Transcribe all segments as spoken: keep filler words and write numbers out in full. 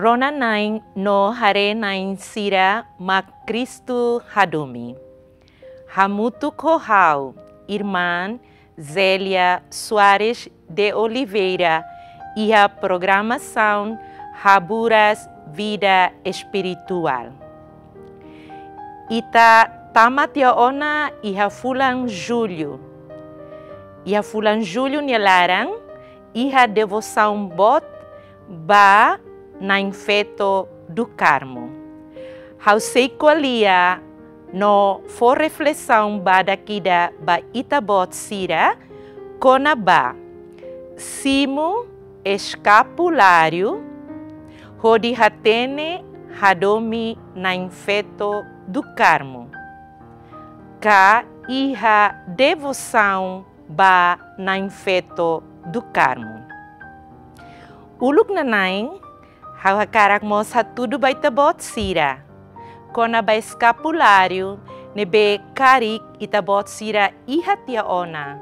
Rona-na'in no haree-na'in sira mak Kristu hadomi. Hamutuk ho ha'u, Irmán Zélia Soares de Oliveira, iha programasaun Haburas Vida Espirituál. Ita tama tiha ona iha fulan Jullu. Iha fulan Jullu nia laran, iha devosaun boot ba Na'in Feto do Carmo. Ha'u sei ko'alia no fó reflesaun badak ida ba ita-boot sira kona-ba simu eskapuláriu hodi hatene hadomi Na'in Feto do Carmo, ka iha devosaun ba Na'in Feto do Carmo. Uluk nana'in, ha'u hakarak mós hatudu ba ita-boot sira kona-ba eskapuláriu ne'ebé karik ita-boot sira iha tiha ona,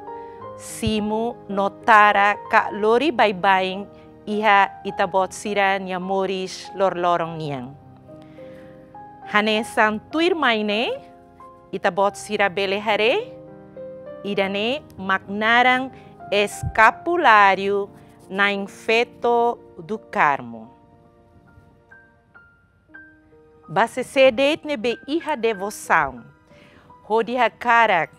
simu no tara ka lori baibain iha ita-boot sira-nia moris loroloron nian. Hanesan tuirmai ne'e, ita-boot sira bele haree, ida-ne'e mak naran eskapuláriu Na'in Feto do Carmo. Ba sé-sé de'it ne'ebé iha devosaun hodi hakarak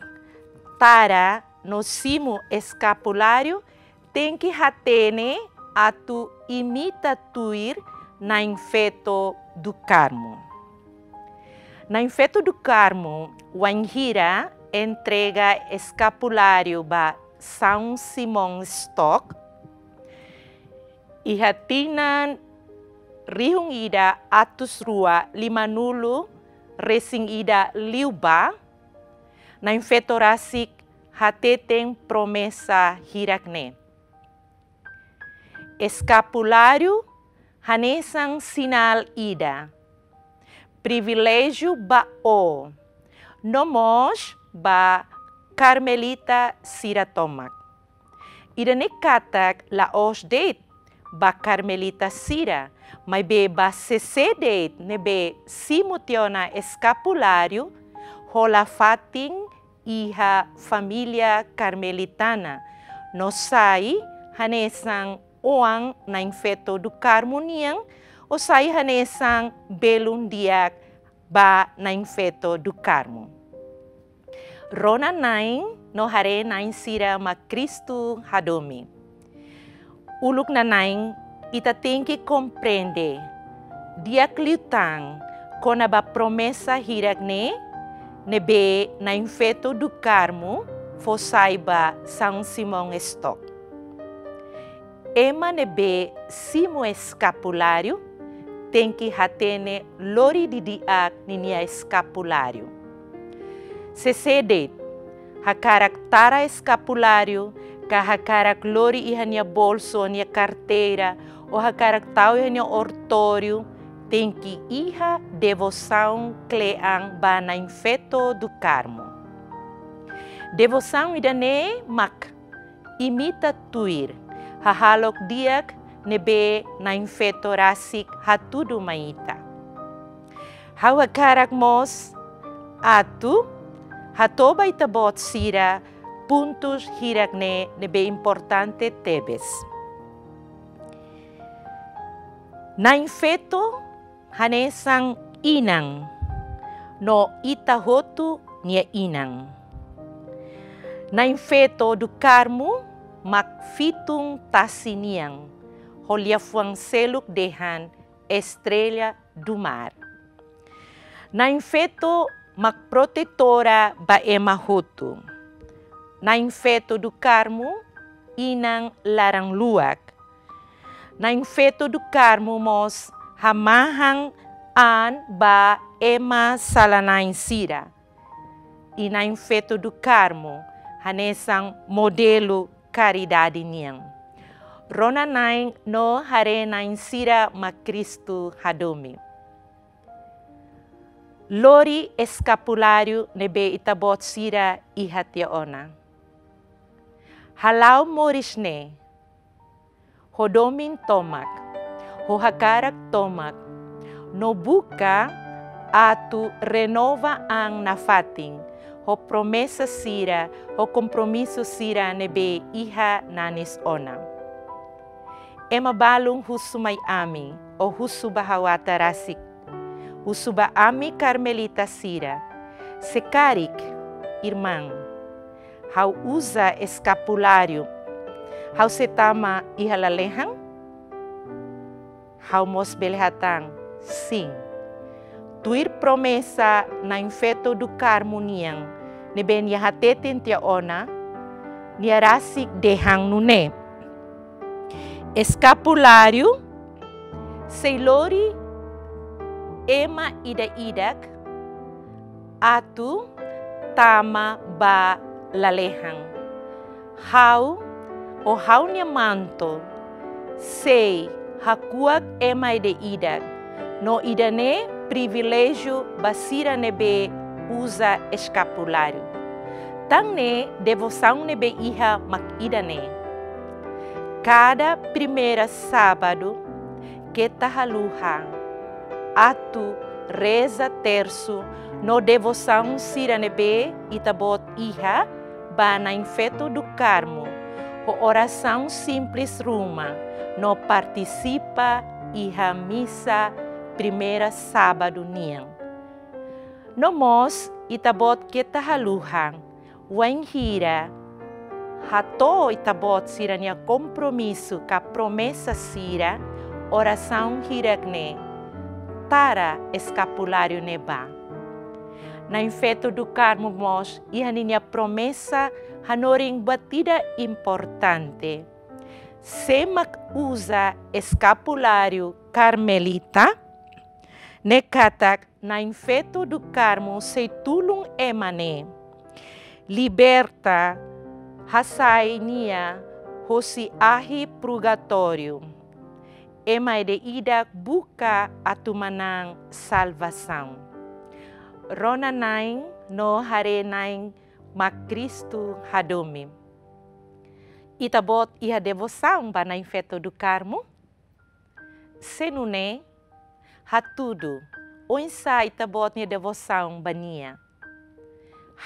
tara no simu eskapuláriu, tenke hatene atu imita tuir Na'in Feto do Carmo. Na'in Feto do Carmo wainhira entrega eskapuláriu ba São Simão Stock, iha tinan rihun ida atus rua limanulu resin ida liubá, Na'in Feto rasik hateten promesa hirak-ne'e. Eskapuláriu hanesan sinál ida, priviléjiu ba ó, no mós ba karmelita sira tomak. Ida-ne'e katak la'ós de'it ba karmelita sira, maibé ba sé-sé de'it ne'ebé simu tiha ona eskapuláriu, hola fatin iha família karmelitana, no sai hanesan oan Na'in Feto do Carmo nian, ou sai hanesan belun di'ak ba Na'in Feto do Carmo. Rona-na'in no haree-na'in sira mak Kristu hadomi. Uluk nana'in, ita tenke komprende di'ak liután kona-ba promesa hirak-ne'e, ne'ebé Na'in Feto do Carmo fó sai ba São Simão Stock. Ema ne'ebé simu eskapuláriu tenke hatene lori didi'ak ninia eskapuláriu. Sé-sé de'it hakarak tara eskapuláriu, ka hakarak lori iha nia bolsu ou nia karteira, ou hakarak tau iha nia oratóriu, tenke iha devosaun kle'an ba Na'in Feto do Carmo. Devosaun ida-ne'e mak imita tuir hahalok di'ak ne'ebé Na'in Feto rasik hatudu mai ita. Ha'u hakarak mós atu hato'o ba ita-boot sira pontus hirak-ne'e ne'ebé importante tebes. Na'in Feto hanesan inan, no ita hotu nia inan. Na'in Feto do Carmo mak fitun tasi nian, ho liafuan seluk dehan Estrela do Mar. Na'in Feto mak protetora ba ema hotu. Na'in Feto do Carmo inan laran-luak. Na'in Feto do Carmo mós hamahan an ba ema sala-na'in sira. I Na'in Feto do Carmo hanesan modelu karidade nian. Rona-na'in no haree-na'in sira mak Kristu hadomi. Lori eskapuláriu ne'ebé ita-boot sira iha tiha ona. Hala'o moris ne'e ho domin tomak, ho hakarak tomak, no buka atu renova an nafatin ho promesa sira, ho kompromisu sira ne'ebé iha nanis ona. Ema balun husu mai ami, ou husu ba ha'u ata rasik. Husu ba ami karmelita sira. Se karik, irmaun, ha'u uza eskapuláriu, ha'u sei tama iha lalehan? Ha'u mós bele hatán, sin. Tuir promesa Na'in Feto do Carmo nian, ne'ebé nia hateten tiha ona, nia rasik dehan nune'e: Eskapuláriu sei lori ema ida-idak atu tama ba lalehan. Ha'u, ho ha'u-nia manto, sei hakuak ema ida-idak, no ida-ne'e priviléjiu ba sira ne'ebé uza eskapuláriu. Tan ne'e devosaun ne'ebé iha mak ida-ne'e. Kada primeira sábadu, keta haluha atu reza tersu no devosaun sira ne'ebé ita-boot iha ba Na'in Feto do Carmo, ho orasaun simples ruma, no partisipa iha misa primeira sábadu nian. No mós, ita-boot keta haluha, wainhira hato'o ita-boot sira-nia kompromisu ka promesa sira, orasaun hirak-ne'e, tara eskapuláriu ne'e bá. Na'in Feto do Carmo mós iha ninia promesa hanorin buat ida importante. Sé mak uza eskapuláriu karmelita, ne'e katak Na'in Feto do Carmo sei tulun ema ne'e, liberta, hasai nia hosi ahi purgatóriu. Ema ida-idak buka atu manán salvasaun. Rona-na'in no haree-na'in mak Kristu hadomi. Ita-boot iha devosaun ba Na'in Feto do Carmo? Se nune'e, hatudu oinsá ita-boot nia devosaun ba nia.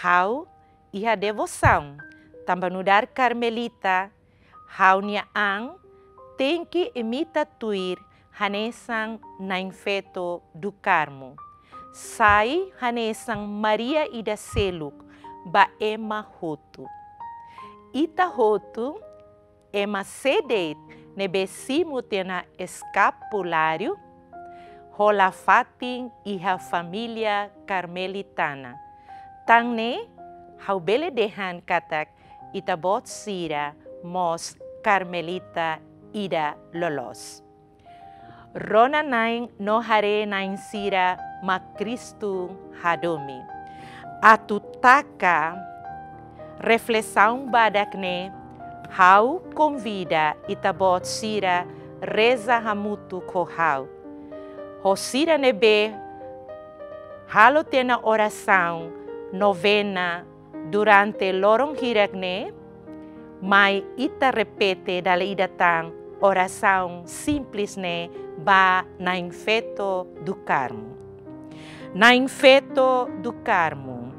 Ha'u iha devosaun, tanba nu'udar karmelita, ha'u-nia an tenke imita tuir hanesan Na'in Feto do Carmo. Sai hanesan Maria ida seluk ba ema hotu. Ita hotu, ema sé de'it ne'ebé simu tiha ona eskapuláriu, hola fatin iha família karmelitana. Tan ne'e, ha'u bele dehan katak ita-boot sira mós karmelita ida loloos. Rona-na'in no haree-na'in sira mak Kristu hadomi. Atu taka reflesaun badak ne'e, ha'u konvida ita-boot sira reza hamutuk ho ha'u. Ho sira ne'ebé halo tiha ona orasaun novena durante loron hirak-ne'e, mai ita repete dala ida tan orasaun simples ne'e ba Na'in Feto do Carmo. Na'in Feto do Carmo,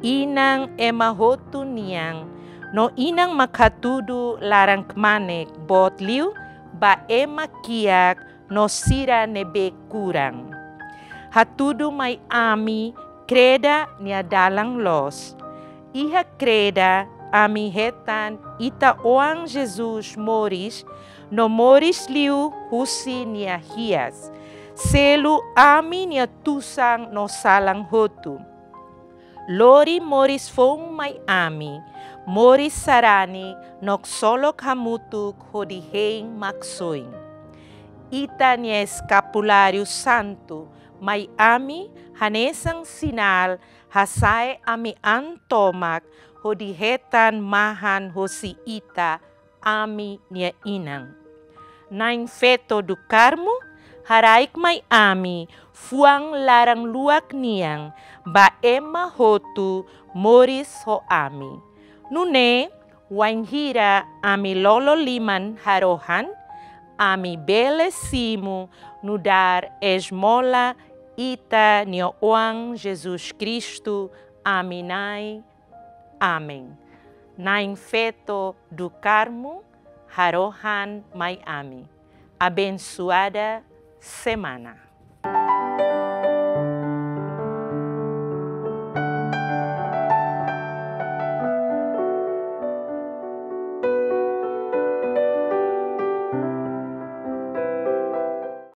Inan ema hotu nian, no Inan mak hatudu laran-kmanek boot liu ba ema kiak no sira ne'ebé kuran. Hatudu mai ami kreda nia dalan loos. Iha kreda ami hetan Ita-Oan Jesus moris, no moris liu husi nia hi'as. Selu ami-nia tusan no salan hotu. Lori moris foun mai ami, moris sarani no ksolok hamutuk hodi hein Maksoin. Ita-nia eskapuláriu santu mai ami hanesan sinál hasa'e ami an tomak hodi hetan mahan hosi Ita, ami-nia Inan. Na'in Feto do Carmo, haraik mai ami fuan laran-luak nian ba ema hotu moris ho ami. Nune'e, wainhira ami lolo liman harohan, ami bele simu nu'udar esmola ita-nia Oan Jesus Kristu, ami Na'i. Amen. Na'i Feto do Carmo, harohan mai ami. Abensoada semana.